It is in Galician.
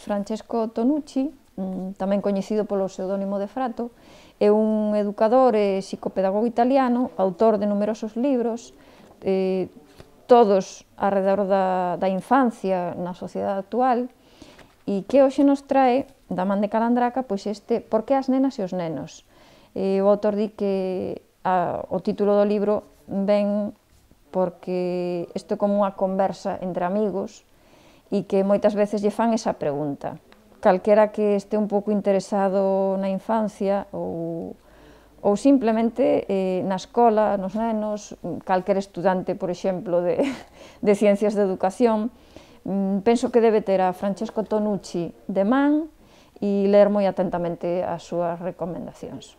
Francesco Tonucci, tamén coñecido polo pseudónimo de Frato, é un educador e psicopedagogo italiano, autor de numerosos libros, todos arredor da infancia na sociedade actual, e que hoxe nos trae, da man de Calandraca, pois este Por que as nenas e os nenos. O autor di que o título do libro ven porque isto é como unha conversa entre amigos e que moitas veces lle fan esa pregunta. Calquera que este un pouco interesado na infancia ou simplemente na escola, nos nenos, calquera estudante, por exemplo, de ciencias de educación, penso que debe ter a Francesco Tonucci de man e ler moi atentamente as súas recomendacións.